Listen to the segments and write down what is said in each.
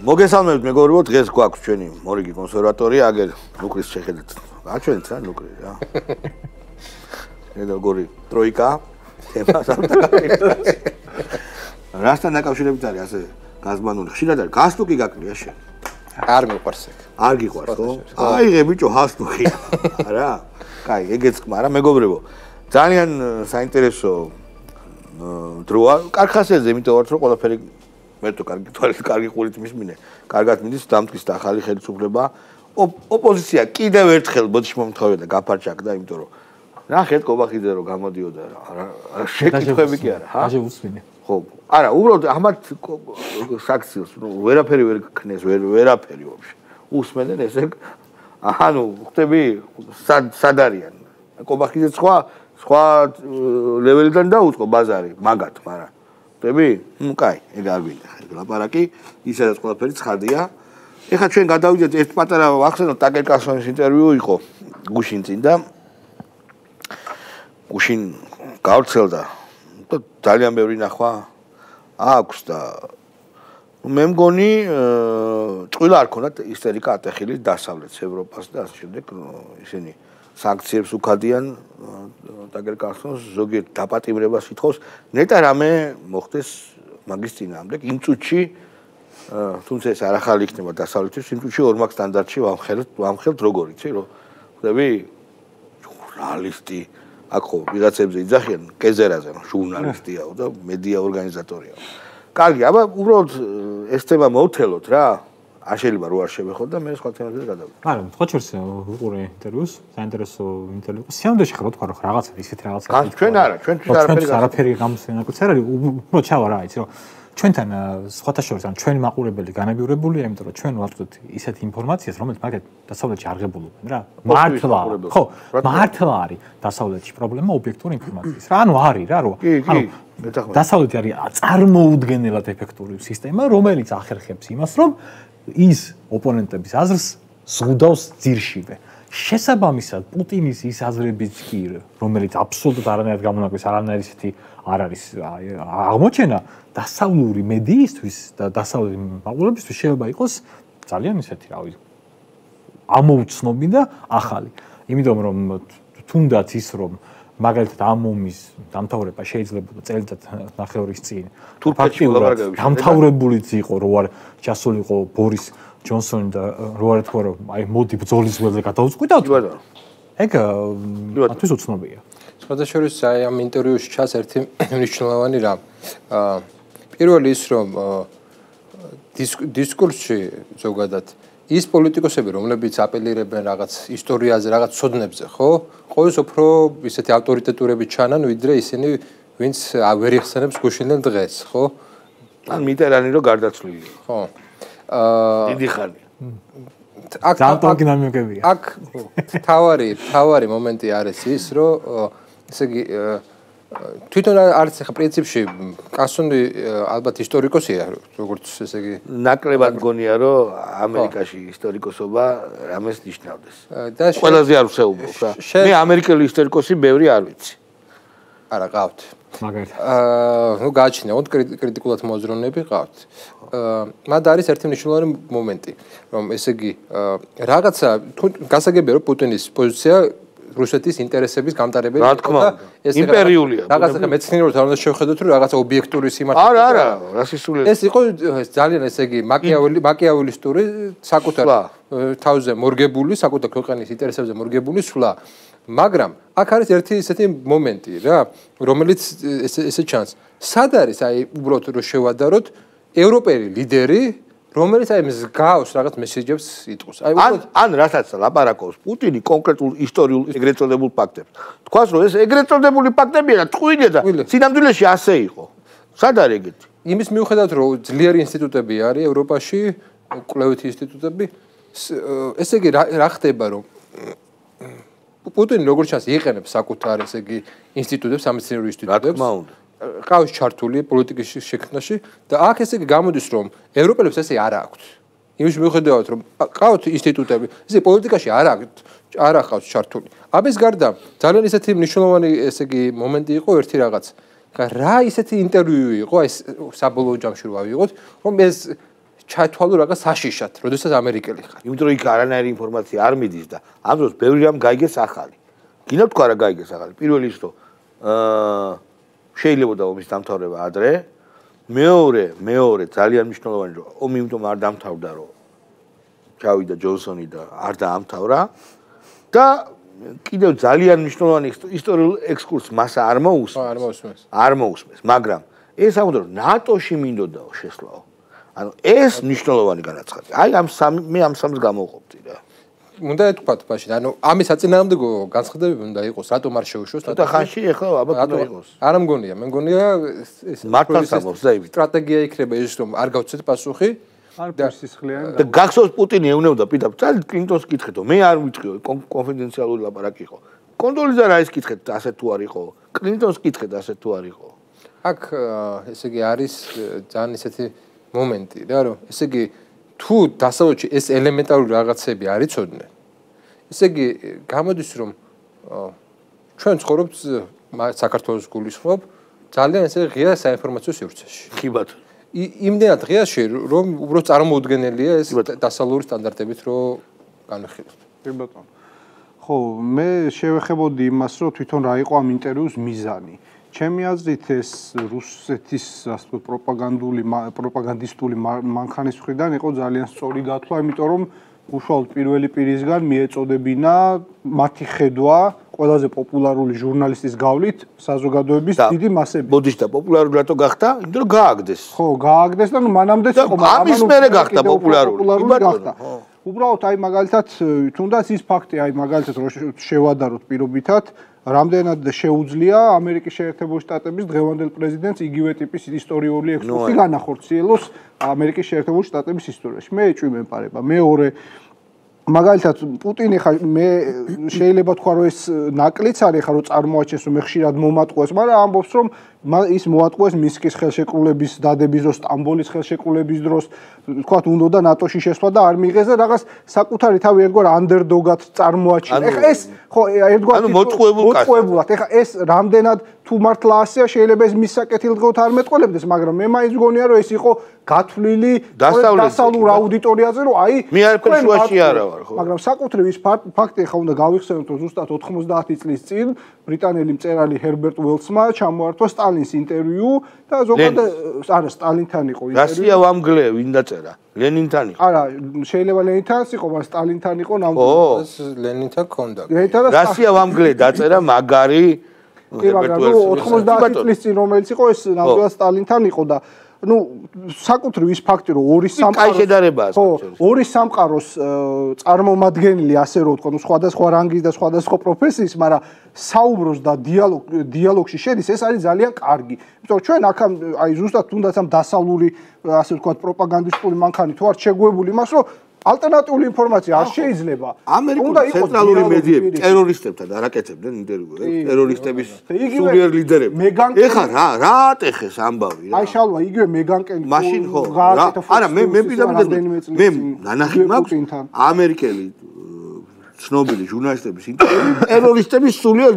მოგესალმებით მეგობრებო, დღეს გვაქვს ჩვენი მორიგი კონსერვატორია, აგერ ნუკრის შეხედეთ. გაჩვენეთ რა ნუკრი რა. ედა გორი ტროიკა, თემა სამთაგა. რასთან დაკავშირებით არის ასე გაზმანული. ხშირად არის გასტუკი გაკლია შენ. არ მიყვარს ეგ. არ გიყვარს ხო? აიღე ბიჭო ჰასტუკი. რა? კაი, ეგეც კმარა მეგობრებო. ძალიან საინტერესო დროა. კარხასეზე, იმიტომ ვარ, რომ ყველაფერი მერტო კარგი თვალით, კარგი ყურით მისმინე. კარგად მიდის დამტკის და ახალი ხელისუფლება. ოპოზიცია კიდევ ერთხელ ბოდიში მომთხოვია და გაფარჩაკდა, იმიტომ რომ ნახეთ კობახიძე რომ გამოდიოდა რა შეკითხვები კი არა, ჰა? დაჟე უსმინე. ხო. არა, უბრალოდ ამათ საქციელს ვერაფერი ვერ ქნეს, ვერაფერი ვაფშე. უსმენდნენ ესე ანუ ხტები სად არიან? კობახიძე სხვა ლეველიდან დაუწყო ბაზარი, მაგათ, მაგრამ ხტები? ნუ კაი, ეგ არ გვინდა. ლაპარაკი, ისაც ყველაფერი ცხადია. ეხლა ჩვენ გადავიდეთ ერთ პატარა ვახსენოთ ტაკერ კარლსონის ინტერვიუ იყო გუშინ წინ და გუშინ გავრცელდა და ძალიან ბევრი ნახვა აქვს და მე მგონი წვილა არ ქონდათ ისტერიკა ატეხილი დასავლეთს ევროპას და ასე შემდეგ ისინი სანქციებს უქადიან ტაკერ კარლსონს ზოგიერთ დაპატიმრებას ითხოვს ნეტა რამე მოხდეს მაგის წინააღმდეგ იმ წუთში თუმცა ეს არ ახალი იქნება დასავლეთის იმ წუთში ორმაგ სტანდარტში ვამხელთ როგორ იცი რომ ხდები ჟურნალისტი აქ ხო ვიღაცებზე იძახიან კეზერაზე ჟურნალისტიაო და მედია ორგანიზატორიაო კარგი აბა უბრალოდ ეს თემა მოვთელოთ რა არ შეიძლება რო არ შევეხოთ და მე სხვა თემებზე გადავიდეთ არა თქვა შორს უყურე ინტერვიუს საინტერესო ინტერვიუ სიამდვილეში ხო თქვა რომ რაღაცა ისეთი რაღაცა ჩვენ არა ჩვენთვის არაფერი გამოსვენაკუც არ არის უბრალოდ ჩავა რა იცი რომ ჩვენთან სხვათა შორის ან ჩვენი მაყურებელი განებიურებულია, იმიტომ რომ ჩვენ ვართ ისეთ ინფორმაციას, რომელიც მაგათ დასავლეთში არ ღებულობენ რა. მართლა. ხო, მართლა არის დასავლეთში პრობლემა ობიექტური ინფორმაციის. რა, ანუ არის რა, რომ დასავლეთი არის წარმოუდგენელად ეფექტური სისტემა, რომელიც ახერხებს იმას, რომ ის ოპონენტების აზრს ზღუდავს ძირშივე. შესაბამისად, პუტინის ის აზრებიც კი, რომელიც აბსოლუტურად არანაირად გამონაკლისს, არანაირ ისეთი არ არის აღმოჩენა დასავლური მედიისთვის და დასავლური მაყურებისთვის შეიძლება იყოს ძალიან ისეთი, რავი, ამოუცნობი და ახალი. იმიტომ რომ თუნდაც ის რომ მაგალითად ამ ომის დამთავრება შეიძლება წელიწად ნახევრის წინ ფაქტიურად დამთავრებულიც იყო, რო არ ჩასულიყო ბორის ჯონსონი და რო არ თქვა რომ აი მოდი ბრძოლის ველზე გადავწყვიტავთ. ეგ მათთვის უცნობია. სხვადასხვა აი ამ ინტერვიუში ჩანს ერთი მნიშვნელოვანი რამ. პირველი ის რომ დისკურსში ზოგადად ის პოლიტიკოსები რომლებიც აპელირებენ რაღაც ისტორიაზე, რაღაც ცოდნებზე, ხო? ყოველს უფრო ისეთი ავტორიტეტურები ჩანან, ვიდრე ისინი, ვინც ვერ იხსენებს გუშინდელ დღეს, ხო? ან მიტერანი რო გარდაცვლილი. ხო. დიდი ხანი. აქ დინამიკებია. აქ თავარი მომენტი არის ის, რომ ესე იგი თვითონ არც ახლა პრინციპში კასონი ალბათ ისტორიკოსია როგორც ესე იგი ნაკლებად მგონია რომ ამერიკაში ისტორიკოსობა რამეს ნიშნავდეს ყველაზე არ ვსეუბრობ რა მე ამერიკელი ისტორიკოსი ბევრი არ ვიცი არა ყავთ მაგალითად ნუ გააჩნია კრიტიკულად მოაზროვნეები ყავთ მათ არის ერთი მნიშვნელოვანი მომენტი რომ ესე იგი რაღაცა გასაგებია რომ პუტინის პოზიცია რუსეთის ინტერესების გამტარებელი რა თქმა უნდა ეს იმპერიულია რაღაცა მეცნიერულად არ უნდა შევხედოთ რომ რაღაცა ობიექტური სიმართლე არა რასისტული ეს იყო ძალიან ესე იგი მაკიაველისტური საკუთარ თავზე მორგებული საკუთარ ქვეყნის ინტერესებზე მორგებული სვლა მაგრამ აქ არის ერთი ისეთი მომენტი რა რომელიც ესე ჩანს სად არის აი უბრალოდ რომ შევადაროთ ევროპელი ლიდერი რომელიც აი მსგავს რაღაც მესეჯებს იტყვის. აი ან რასაც ლაპარაკობს პუტინი კონკრეტულ ისტორიულ ეგრეთ წოდებულ ფაქტებს. თქვას რომ ეს ეგრეთ წოდებული ფაქტებია და ტყუილია და სინამდვილეში ასე იყო. სად არის ეგეთი? იმის მიუხედავად რომ ძლიერი ინსტიტუტები არის ევროპაში, კვლევითი ინსტიტუტები, ესე იგი რა ხდება რომ პუტინი როგორც ჩანს იყენებს საკუთარ ესე იგი ინსტიტუტებს, სამეცნიერო ინსტიტუტებს. რა თქმა უნდა. ყავს ჩართული პოლიტიკის შექმნაში და აქ ესე იგი გამოდის რომ ევროპელებს ესე არ აქვთ. იმის მიუხედავად რომ ყავთ ინსტიტუტები, ესე პოლიტიკაში არ აყავს ჩართული. ამის გარდა ძალიან ისეთი მნიშვნელოვანი ესე იგი მომენტი იყო ერთი რაღაც. რა ისეთი ინტერვიუ იყო, ეს საბოლოო ჯამში რო ავიღოთ, რომ ეს ჩათვალო რაღაც საშიშად, როდესაც ამერიკელი ხარ. იმიტომ რომ იქ არანაირი ინფორმაცია არ მიდის და ამ დროს ბევრი რამ გაიგეს ახალი. გინდა თქვა რა გაიგეს ახალი. პირველი ის რომ შეიძლება ომის დამთავრება ადრე. მეორე ძალიან მნიშვნელოვანი რომ ომი იმიტომ არ დამთავრდა რომ ჩავიდა ჯონსონი და არ დაამთავრა და კიდევ ძალიან მნიშვნელოვანი ისტორიულ ექსკურსს მას არ მოусმეს, მაგრამ ეს ამბობ რომ ნატოში მინდოდაო შესვლაო. ანუ ეს მნიშვნელოვანი განაცხადი. აი მე ამ სამს გამოვყოფდი რა. უნდა ეთქვათ ბაში, ანუ ამის საწინააღმდეგო განცხადებები უნდა იყოს, რატომ არ შეუშვეს? და ხანში ეხლა ალბათ უნდა იყოს. არა მგონია, მე მგონია ეს მართლაც ამბობს და ივით. სტრატეგია იქნება ის რომ არ გავცეთ პასუხი. და გახსოვს პუტინი ეუბნებოდა პირდაპირ კლინტონს კითხეთო მე არ ვიტყვიო კონფიდენციალური ლაპარაკი იყო კონდოლიზა რა ის კითხეთ ასე თუ არ იყო კლინტონს კითხეთ ასე თუ არ იყო აქ ესე იგი არის ძალიან ისეთი მომენტი რა რომ ესე იგი თუ დასავლეთში ეს ელემენტარული რაღაცები არ იცოდნენ ესე იგი გამოდის რომ ჩვენ ცხოვრობთ საქართველოს გულისხმობ ძალიან ესე ღია საინფორმაციო სივრცეში კი ბატონო იმდენად ღიაში რომ უბრალოდ წარმოუდგენელია ეს დასავლური სტანდარტებით რომ განვიხილოთ. კი ბატონო. ხო, მე შევეხებოდი იმას, რომ თვითონ რა იყო ამ ინტერვიუს მიზანი. ჩემი აზრით ეს რუსეთის ასე ვთქვათ პროპაგანდისტული მანქანის მხრიდან იყო ძალიან სწორი გათვლა, იმიტომ რომ უშუალოდ პირველი პირისგან მიეწოდებინა მათი ხედვა ყველაზე პოპულარული ჟურნალისტის გავლით საზოგადოების დიდი მასები. ბოდიშ და პოპულარული რატო გახდა? იმიტომ რომ გააგდეს. ხო, გააგდეს და მანამდეც იყო, მაგრამ ამის მერე გახდა პოპულარული. გახდა. უბრალოდ აი მაგალითად თუნდაც ის ფაქტი აი მაგალითად რომ შევადაროთ პირობითად რამდენად შეუძლია ამერიკის შეერთებული შტატების დღევანდელ პრეზიდენტს იგივე ტიპის ისტორიული ექსკურსი განახორციელოს ამერიკის შეერთებული შტატების ისტორიაში. მე ეჭვი მემყარება. მეორე მაგალითად პუტინი ხა მე შეიძლება თქვა რომ ეს ნაკლიც არის ხა რომ წარმოაჩენს რომ ხშირად მომატყუეს, მაგრამ ამბობს რომ ის მოატყუეს მინსკის ხელშეკრულების დადების დროს, სტამბოლის ხელშეკრულების დროს, თქვათ უნდა ნატოში შესვლა და არ მიიღეს და რაღაც საკუთარი თავი ერთგვარ ანდერდოგად წარმოაჩინა. ეხა ეს ხო ერთგვარ მოწყუებულად. ეხა ეს რამდენად თუ მართლა ასეა შეიძლება ეს მის საკეთილდღეოდ არ მეტყოლებდეს, მაგრამ მე მაინც მგონია რომ ეს იყო გათვლილი დასავლურ აუდიტორიაზე რომ აი მე არაფერ შუაში არა ვარ ხო მაგრამ საკუთრივ ის ფაქტი ხა უნდა გავიხსენოთ რომ ზუსტად 90 წლის წინ ბრიტანელი მწერალი ჰერბერტ უელსმა ჩამოართვა სტალინს ინტერვიუ და ზოგადად არა სტალინთან იყო ინტერვიუ რასია ვამგლე ვინ დაწერა ლენინთან იყო არა შეიძლება ლენინთანაც იყო მაგრამ სტალინთან იყო ნამდვილად ლენინთან ქონდა რასია ვამგლე დაწერა მაგარი ჰერბერტ უელსმა 90 წლის წინ რომელიც იყო ეს ნამდვილად სტალინთან იყო და ну საკუთრივ ის ფაქტი რომ ორი სამყაროს წარმომადგენელი ასე რომ ვთქვა, სხვადასხვა რანგის და სხვადასხვა პროფესიის, მაგრამ საუბრობს და დიალოგში შედის, ეს არის ძალიან კარგი. იმიტომ რომ ჩვენ აქ აი ზუსტად თუნდაც ამ დასავლური ასე ვთქვა პროპაგანდისტული მანქანი თუ არ შეგვებული იმას რომ ალტერნატიული ინფორმაცია არ შეიძლება. ამერიკული ცენტრალური მედიები ტერორისტებთან არაკეთებდნენ ინტერვიუებს, ტერორისტების სულიერ ლიდერებს. ეხა რა ატეხეს ამბავი რა. აი შალვა იგივე მეგანკელი მაშინ ხო არა მე მე ნანახი მაქვს ამერიკელი ცნობილი ჟურნალისტების ინტერვიუ ტერორისტების სულიერ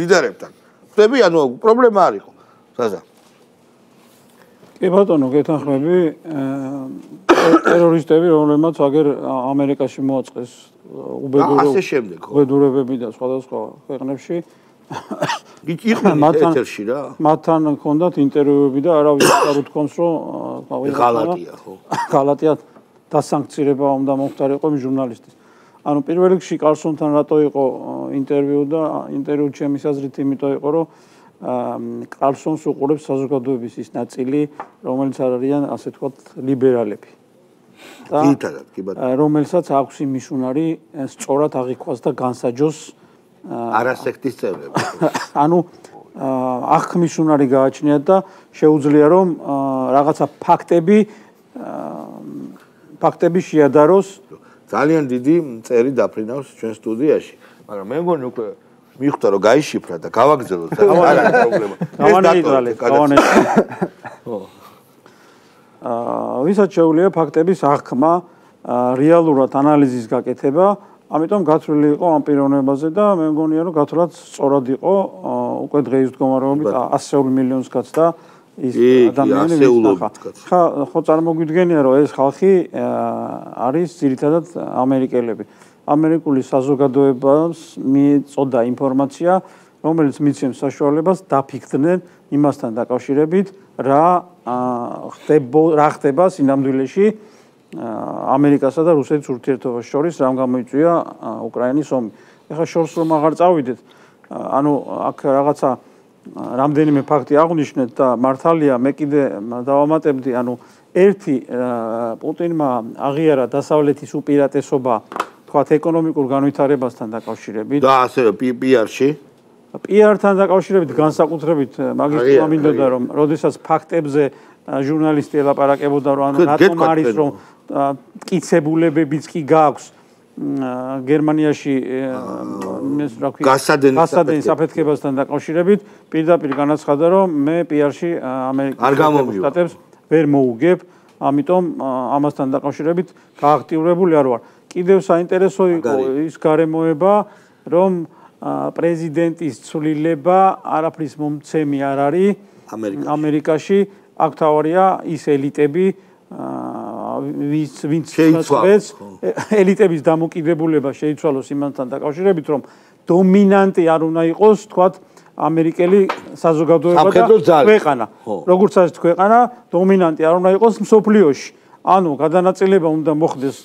ლიდერებთან. ხდები ანუ პრობლემა არ იყო. საზა კი ბატონო, გეთანხმები ტერორისტები, რომლებმაც აგერ ამერიკაში მოაწყეს უბედურებები და სხვადასხვა ქვეყნებში. იყვნენ ეთერში რა. მათთან ჰქონდათ ინტერვიუები და არავის არ უთქვამს, რომ ღალატია ხო. ღალატია დასანქცირება უნდა მომხდარიყო იმ ჟურნალისტის. ანუ პირველ რიგში კარლსონთან რატო იყო ინტერვიუ და ინტერვიუ ჩემის აზრით იმიტომ იყო, რომ კარლსონს უყურებს საზოგადოების ის ნაწილი, რომელიც არიან ასე ვთქვათ ლიბერალები. ძირითადად კი ბატონო. რომელსაც აქვს იმის უნარი სწორად აღიქვას და განსაჯოს არასექტის წევრები. ანუ აღქმის უნარი გააჩნიათ და შეუძლია რომ რაღაცა ფაქტები შეადაროს. ძალიან დიდი წერი დაფრინავს ჩვენ სტუდიაში, მაგრამ მე მგონი უკვე მიხვდა რომ გაიშიფრა და გავაგზავნოთ. არა პრობლემა. ვისაც შეუძლია ფაქტების აღქმა, რეალურად ანალიზის გაკეთება, ამიტომ გათვლილი იყო ამ პიროვნებაზე და მე მგონია რომ გათვლაც სწორად იყო, უკვე დღეის მდგომარეობით 100 მილიონს გაცდა ის ადამიანები ხო წარმოგვიდგენია რომ ეს ხალხი არის ძირითადად ამერიკელები. ამერიკული საზოგადოებას მიეწოდა ინფორმაცია, რომელიც მიცემს საშუალებას დაფიქრდნენ იმასთან დაკავშირებით, რა ხდება სინამდვილეში ამერიკასა და რუსეთის ურთიერთობას შორის, რამ გამოიწვია უკრაინის ომი. ეხლა შორს რომ აღარ წავიდეთ, ანუ აქ რაღაცა რამდენიმე ფაქტი აღვნიშნეთ და მართალია მე კიდე დავამატებდი, ანუ ერთი პუტინმა აღიარა დასავლეთის უპირატესობა თქვათ ეკონომიკურ განვითარებასთან დაკავშირებით და ასევე PR-ში PR-თან დაკავშირებით განსაკუთრებით მაგის თქმა მინდოდა რომ როდესაც ფაქტებზე ჟურნალისტი ელაპარაკებოდა რომ ანუ რატომ არის რომ მტკიცებულებებიც კი გაქვს გერმანიაში გასადენის საფეთქებასთან დაკავშირებით პირდაპირ განაცხადა რომ მე PR-ში ამერიკის შტატებს ვერ მოუგებ, ამიტომ ამასთან დაკავშირებით გააქტიურებული არ ვარ. კიდევ საინტერესო იყო ის გარემოება, რომ პრეზიდენტის ცვლილება არაფრის მომცემი არ არის ამერიკაში, აქ თავარია ის ელიტები, ვინც შეიცვალოს ელიტების დამოკიდებულება შეიცვალოს იმასთან დაკავშირებით, რომ დომინანტი არ უნდა იყოს, თქვათ, ამერიკელი საზოგადოება და ქვეყანა. როგორც არის ქვეყანა, დომინანტი არ უნდა იყოს მსოფლიოში. ანუ გადანაწილება უნდა მოხდეს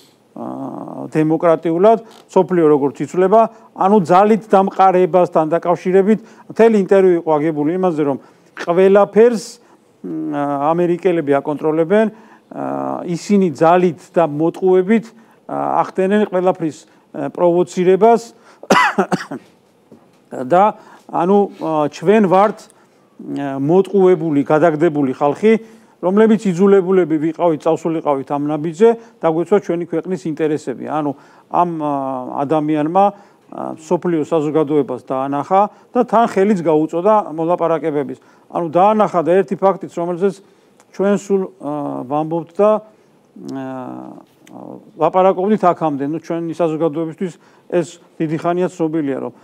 დემოკრატიულად, მსოფლიო როგორც იცვლება, ანუ ძალით დამყარებასთან დაკავშირებით მთელი ინტერვიუ იყო აგებული იმაზე, რომ ყველაფერს ამერიკელები აკონტროლებენ, ისინი ძალით და მოტყუებით ახდენენ ყველაფრის პროვოცირებას და ანუ ჩვენ ვართ მოტყუებული, გადაგდებული ხალხი, რომლებიც იძულებულები ვიყავით, წავსულიყავით ამ ნაბიჯზე, დაგვეცვა ჩვენი ქვეყნის ინტერესები. ანუ ამ ადამიანმა სოფლიო საზოგადოებას დაანახა და თან ხელიც გაუწოდა მოლაპარაკებების. ანუ დაანახა და ერთი ფაქტიც, რომელზეც ჩვენ სულ ვამბობთ და ლაპარაკობდით აქამდე, ну ჩვენი საზოგადოებისთვის ეს დიდი ხანია ცნობილია, რომ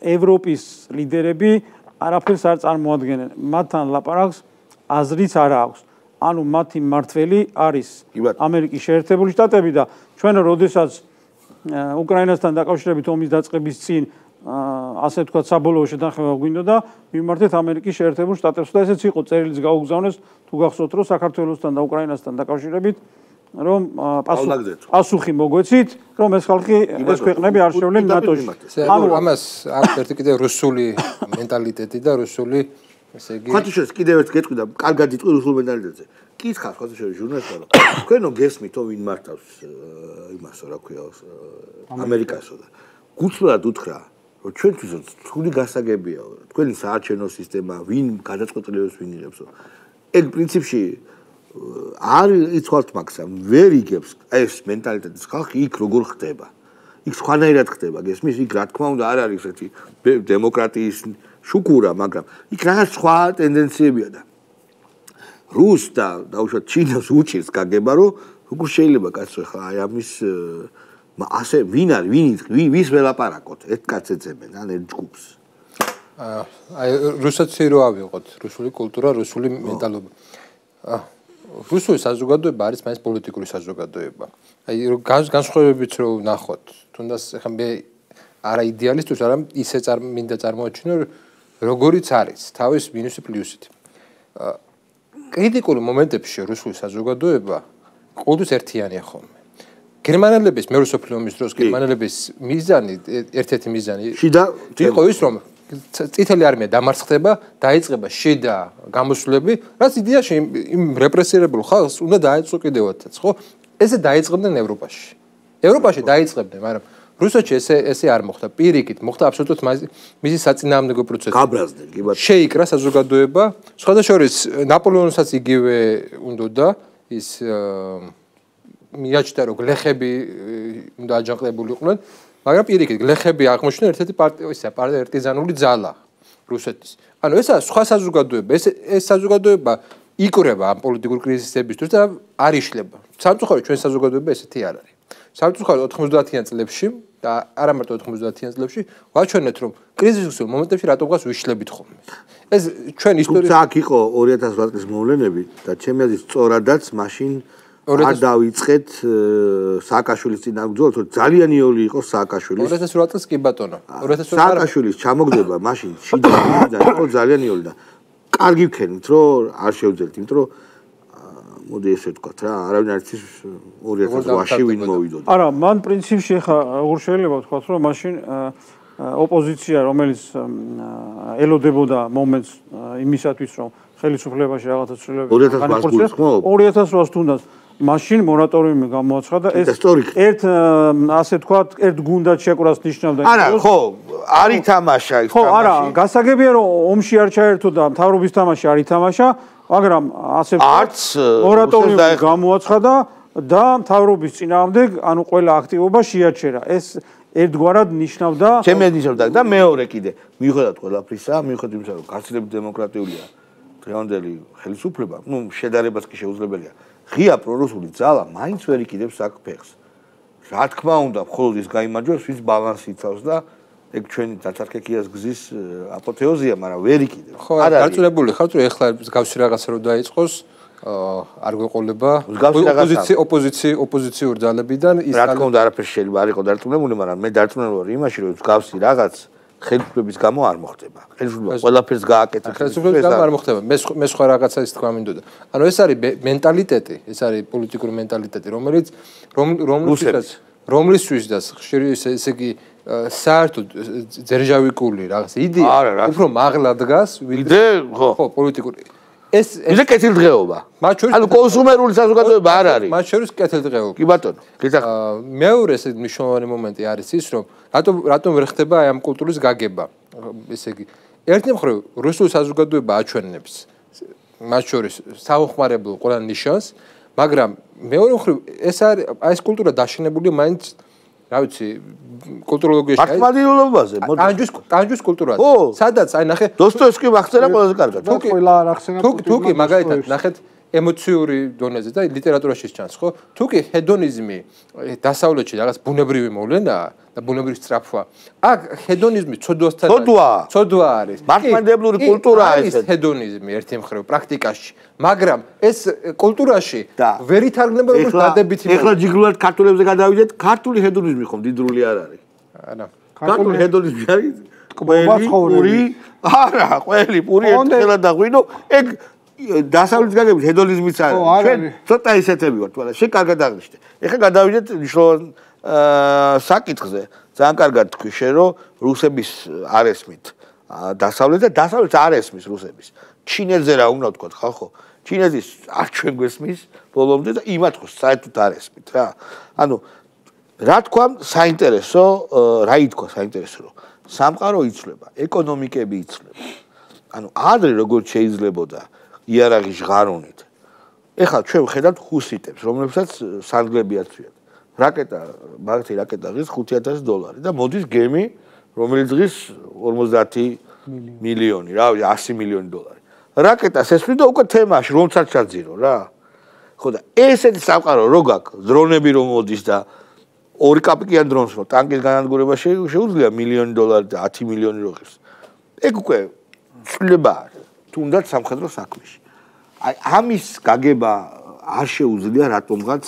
ევროპის ლიდერები არაფერს არ წარმოადგენენ. მათთან ლაპარაკს აზრიც არ აქვს. ანუ მათი მმართველი არის ამერიკის შეერთებული შტატები და ჩვენ როდესაც უკრაინასთან დაკავშირებით ომის დაწყების წინ ასე ვთქვათ საბოლოო შეთანხმება გვინდოდა, მიმართეთ ამერიკის შეერთებულ შტატებს და ესეც იყო წერილიც გაუგზავნეს თუ გახსოვთ რომ საქართველოსთან და უკრაინასთან დაკავშირებით რომ პასუხი მოგვეცით, რომ ეს ხალხი, ეს ქვეყნები არ შევლენ ნატოში. ანუ ამას აქვს ერთი კიდე რუსული მენტალიტეტი და რუსული, ესე იგი. ხათუშეს კიდევ ერთ გეტყვი და კარგად იტყვი რუსულ მენტალიტეტზე. კითხავს ხათუშეს ჟურნალისტმა, რომ თქვენო გესმითო ვინ მართავს იმასო, რა ქვია, ამერიკასო და გუცლად უთხრა, რომ ჩვენთვისაც რთული გასაგებია, თქვენი საარჩევნო სისტემა, ვინ გადაწყვეტილებას ვინ იღებსო. ეგ პრინციპში არ იცვალთ მაგას, ვერ იგებს ეს მენტალიტეტის ხალხი იქ როგორ ხდება. იქ სხვანაირად ხდება, გესმის? იქ რა თქმა უნდა არ არის ერთი დემოკრატიის შუქურა, მაგრამ იქ რაღაც სხვა ტენდენციებია და რუს და დაუშვათ ჩინას უჩირს გაგება, რომ როგორ შეიძლება კაცო ხა აი ამის ასე ვინ არის, ვის ველაპარაკოთ? ერთ კაცს ეძებენ, ან ერთ ჯგუფს. აი რუსეთში რო ავიღოთ, რუსული კულტურა, რუსული მენტალობა. რუსული საზოგადოება არის მაინც პოლიტიკური საზოგადოება. აი განსხვავებებით რო ვნახოთ, თუნდაც ახლა მე არა იდეალისტურს, არა ისე მინდა წარმოაჩინო, როგორიც არის, თავის მინუსი პლუსით. კრიტიკულ მომენტებში რუსული საზოგადოება ყოველთვის ერთიანია ხოლმე. გერმანელების მეორე მსოფლიო ომის დროს გერმანელების მიზანი, ერთ-ერთი მიზანი იყო ის, რომ წითელი არმია დამარცხდება, დაიწყება შიდა გამოსვლები, რაც იდეაში იმ რეპრესირებულ ხალხს უნდა დაეწყო კიდევაც, ხო? ესე დაიწყებდნენ ევროპაში. ევროპაში დაიწყებდნენ, მაგრამ რუსეთში ესე არ მოხდა. პირიქით მოხდა აბსოლუტურად მისი საწინააღმდეგო პროცესი. გაბრაზდნენ, კი ბატონო. შეიკრა საზოგადოება, სხვადასხვა ნაპოლეონსაც იგივე უნდოდა ის მიაჩნდა რომ გლეხები უნდა აჯანყებულიყვნენ, მაგრამ პირიქით გლეხები აღმოჩნდნენ ერთ-ერთი პარტიზანული ძალა რუსეთის. ანუ ესა სხვა საზოგადოება, ეს საზოგადოება იკვრება ამ პოლიტიკურ კრიზისებისთვის და არ იშლება. სამწუხაროდ ჩვენ საზოგადოება ესეთი არ არის. სამწუხაროდ 90-იან წლებში და არა მარტო 90-იან წლებში ვაჩვენეთ რომ კრიზისულ მომენტებში რატომღაც ვიშლებით ხოლმე. ეს ჩვენ ისტორიაში აქ იყო 2008 წლის მოვლენები და ჩემი აზრით სწორადაც მაშინ არ დავიწყეთ სააკაშვილის წინააღმდეგ, თორე ძალიან იოლი იყო სააკაშვილის. 2008 წელს კი ბატონო. 2008 სააკაშვილის ჩამოგდება მაშინ შიდა იყო ძალიან იოლი და კარგი ვქენით რომ არ შევძლებთ, იმიტომ რომ მოდი ესე ვთქვათ რა, არავინ არ იცის 2008-ში ვინ მოვიდოდა. არა, მან პრინციპში ხა როგორ შეიძლება ვთქვათ, რომ მაშინ ოპოზიცია, რომელიც ელოდებოდა მომენტს იმისათვის, რომ ხელისუფლებაში რაღაცა ცვლილებები განახორციელოს, 2008-ს თუნდაც მაშინ მორატორიუმი გამოაცხადა ეს ერთ ასე ვთქვათ, ერთ გუნდად შეკვრას ნიშნავდა. არა, ხო, არ ითამაშა ის თამაში. ხო, არა, გასაგებია რომ ომში არ ჩაერთო და მთავრობის თამაში არ ითამაშა, მაგრამ ასე ვთქვათ, მორატორიუმი გამოაცხადა და მთავრობის წინააღმდეგ, ანუ ყველა აქტივობა შეაჩერა. ეს ერთგვარად ნიშნავდა ჩემი ნიშნავდა და მეორე კიდე მიუხედავად ყველაფრისა, მიუხედავად იმისა, რომ გაცილებით დემოკრატიულია დღევანდელი ხელისუფლება, ну, შედარებას კი შეუძლებელია. ღია პრორუსული ძალა მაინც ვერ იკიდებს აქ ფეხს. რა თქმა უნდა, მხოლოდ ის გაიმარჯვებს, ვის ბალანსი იცავს და ეგ ჩვენი დაწარქეკიას გზის აპოთეოზია, მაგრამ ვერ იკიდებს. ხო, დაწურებული ხართ, რომ ეხლა გავსი რაღაცა რომ დაიწყოს, არ გვეყოლება ოპოზიციურ ძალებიდან ის რა თქმა უნდა არაფერი შეიძლება არ იყო დარწმუნებული, მაგრამ მე დარწმუნებული ვარ იმაში, რომ გავსი რაღაც ხელისუფლების გამო არ მოხდება. ხელისუფლება ყველაფერს გააკეთა. ხელისუფლების გამო არ მოხდება. მე სხვა რაღაცა ის თქვა მინდოდა. ანუ ეს არის მენტალიტეტი, ეს არის პოლიტიკური მენტალიტეტი, რომლისთვისაც ხშირი ესე იგი საერთოდ ძერჟავიკული რაღაც იდეა უფრო მაღლა დგას, ვიდრე ხო, პოლიტიკური. ეს კეთილდღეობა. ანუ კონსუმერული საზოგადოება არ არის. მათ შორის კეთილდღეობა. კი ბატონო, გითხრა. მეორე ესე მნიშვნელოვანი მომენტი არის ის, რომ რატომ ვერ ხდება აი ამ კულტურის გაგება. ესე იგი, ერთი მხრივ რუსული საზოგადოება აჩვენებს მათ შორის საუხმარებლო ყველა ნიშანს, მაგრამ მეორე მხრივ ეს არის აი ეს კულტურა დაშენებულია მაინც რა ვიცი კულტუროლოგიაში მართლმადიდებლობაზე კანჯვის კულტურაზე სადაც აი ნახე დოსტოევსკი მახსენა ყველაზე კარგად ყველა არ ახსენა თუკი მაგალითად ნახეთ ემოციური დონეზე და ლიტერატურაში ჩანს ხო თუკი ჰედონიზმი დასავლეთში რაღაც ბუნებრივი მოვლენაა და ბუნებრივი სწრაფვა აქ ჰედონიზმი ცოდვასთან ცოდვა არის მართლმადიდებლური კულტურაა ეს ჰედონიზმი ერთი მხრივ პრაქტიკაში მაგრამ ეს კულტურაში ვერ ითარგმნება როგორც დადებითი ეხლა ჯიგრულად ქართულებზე გადავიდეთ ქართული ჰედონიზმი ხომ დიდრული არ არის არა ქართული ჰედონიზმი არის ყველი არა ყველი პური ერთხელა დაღვინო ეგ დასავლეთის გაგებით ჰედონიზმიც არის ჩვენ ცოტა ისეთები ვართ მაგრამ შე კარგად აღნიშნე ეხლა გადავიდეთ მნიშვნელოვან საკითხზე ძალიან კარგად თქვი შე რომ რუსების არ ესმით დასავლეთ და დასავლეთს არ ესმის რუსების ჩინეთზე რა უნდა ვთქვა ხალხო ჩინეთის არ ჩვენ გვესმის ბოლომდე და იმათ ხო საერთოდ არ ესმით რა ანუ რა თქვა საინტერესო რა ითქვა საინტერესო რომ სამყარო იცვლება ეკონომიკები იცვლება ანუ ადრე როგორც შეიძლებოდა იარაღი ჟღარუნით ეხლა ჩვენ ვხედავთ ჰუსიტებს რომლებსაც სანგლები აწვიათ რაკეტა მაგათი რაკეტა ღირს $5,000 და მოდის გემი რომელიც ღირს 50 მილიონი რა ვიცი 100 მილიონი დოლარი რაკეტას ესვრი და უკვე თემაში რომცაც ჩაძირო რა ხო და ესეთი სამყარო რო გაქვს დრონები რომ მოდის და 2 კაპიკიან დრონს რო ტანკის განადგურება შეუძლია $1 მილიონი და 10 მილიონი რო ღირს ეგ უკვე ცვლილება არის თუნდაც სამხედრო საქმეში აი ამის გაგება არ შეუძლია რატომღაც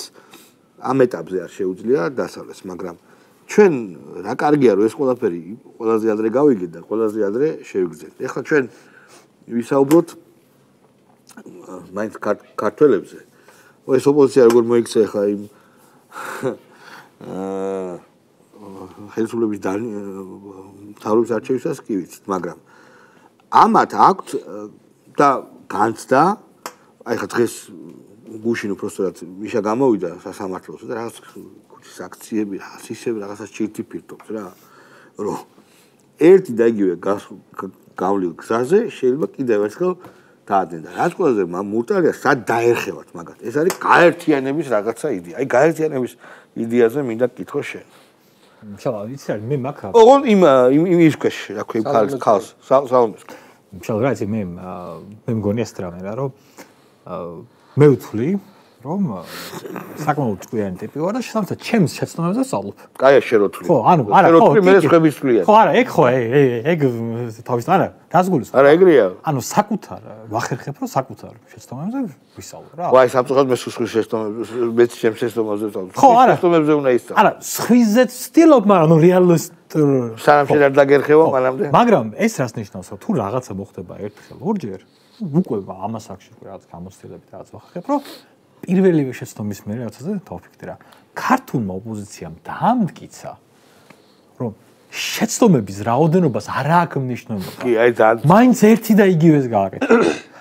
ამ ეტაპზე არ შეუძლია დასავლეთს მაგრამ ჩვენ რა კარგია რომ ეს ყველაფერი ყველაზე ადრე გავიგეთ და ყველაზე ადრე შევიგრძეთ ეხლა ჩვენ ვისაუბროთ მაინც ქართველებზე ეს ოპოზიცია როგორ მოიქცა ეხლა იმ ხელისუფლების მთავრობის არჩევისას კი ვიცით მაგრამ ამათ აქვთ და განცდა აი ხა დღეს გუშინ უბრალოდ მიშა გამოვიდა სასამართლოზე და რაღაც ქუჩის აქციები რაღაც ისევ რაღაცას ჭირთი ფირტობს რა რომ ერთი და იგივე გავლილ გზაზე შეიძლება კიდევ ერთხელ დაადენ და რაც ყველაზე მურტალია სად დაერხევათ მაგათ ეს არის გაერთიანების რაღაცა იდეა აი გაერთიანების იდეაზე მინდა გითხო შენ მშალა იცი რა მე მაგ ოღონ იმ ის ქვეშ რა ქვია ქალს სალომეს მშალა რა იცი მე მგონია ეს რამე რა რომ მე ვთვლი რომ საკმაოდ ჭკვიანი ტიპი ვარ და შესაბამისად ჩემს შეცდომებზე ვსწავლობ. კაია შეროთული. ხო, ანუ არა, ხო, მე სხვების ვთვლიან. ხო, არა, ეგ ხო, ეგ თავის არა, დასგულის. არა, ეგრეა. ანუ საკუთარ ვახერხებ, რომ საკუთარ შეცდომებზე ვისწავლო რა. ვაი, სამწუხაროდ მე სხვის შეცდომებზე, მეც ჩემს შეცდომებზე ვსწავლობ. ხო, არა, შეცდომებზე უნდა ისწავლო. არა, სხვიზეც ვცდილობ, მაგრამ ნუ რეალისტ სანამ შენ არ დაგერხევა მანამდე. მაგრამ ეს რას ნიშნავს, რომ თუ რაღაცა მოხდება ერთხელ, ორჯერ, უკვე ამას აქში რაღაც გამოცდილებით რაღაც ვახერხებ, რომ პირველივე შეცდომის მერე რაღაცაზე დავფიქრე რა. ქართულმა ოპოზიციამ დაამტკიცა, რომ შეცდომების რაოდენობას არ აქვს მნიშვნელობა. კი, აი ძალიან. მაინც ერთი და იგივეს გააკეთა.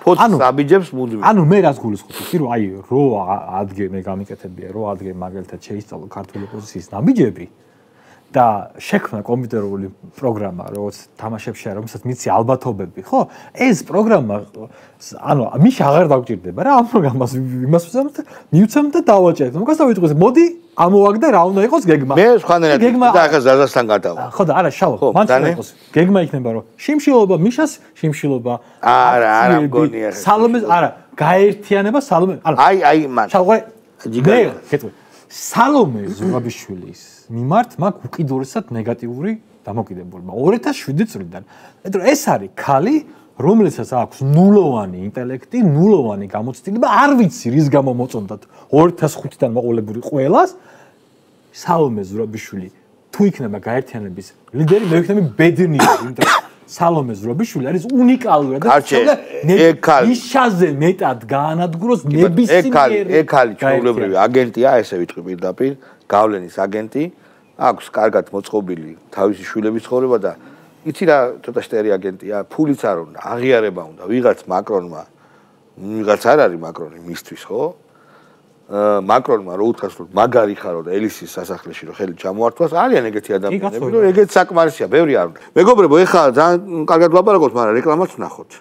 ფოთს აბიჯებს მუდმივ. ანუ მე რას გულისხმობ, რომ აი რო ადგე მე გამიკეთებია, რო ადგე მაგალითად შეისწავლო ქართული ოპოზიციის ნაბიჯები და შექმნა კომპიუტერული პროგრამა, როგორც თამაშებში არის, რომელსაც მიცი ალბათობები, ხო? ეს პროგრამა ანუ მის აღარ დაგჭირდება რა, ამ პროგრამას იმას ვზამთ, მივცემთ და დავაჭერთ. მოგას დავიწყოს, მოდი ამოვაგდე რა უნდა იყოს გეგმა. მე სხვანაირად და ახლა ზაზასთან გადავა. ხო და არა შალო, მან უნდა იყოს გეგმა იქნება რომ შიმშილობა მიშას, შიმშილობა არა მგონია. სალომეს არა, გაერთიანება სალომე, აი მან. შალო, მე გეტყვი. სალომე ზურაბიშვილის მიმართ მაქვს უკიდურესად ნეგატიური დამოკიდებულება 2007 წლიდან. მეტყვი ეს არის ქალი, რომელსაც აქვს ნულოვანი ინტელექტი, ნულოვანი გამოცდილება, არ ვიცი რის გამო მოწონდათ 2005-დან მოყოლებული ყველას. სალომე ზურაბიშვილი თუ იქნება გაერთიანების ლიდერი, მე ვიქნები ბედნიერი, იმიტომ რომ სალომე ზურაბიშვილი არის უნიკალური და მიშაზე მეტად გაანადგუროს ნებისმიერი. ეგ ხალი ჩვეულებრივი აგენტია, ესე ვიტყვი პირდაპირ, გავლენის აგენტი, აქვს კარგად მოწყობილი თავისი შვილების ცხოვრება და იცი რა ცოტა შტერი აგენტია, ფულიც არ უნდა, აღიარება უნდა, ვიღაც მაკრონმა, ვიღაც არ არის მაკრონი მისთვის, ხო? მაკრონმა რო უთხრას რომ მაგარი ხარო და ელისის სასახლეში რო ხელი ჩამოართვას, არიან ეგეთი ადამიანები, რომ ეგეც საკმარისია, ბევრი არ უნდა. მეგობრებო, ეხლა ძალიან კარგად ვლაპარაკობთ, მაგრამ რეკლამაც ვნახოთ.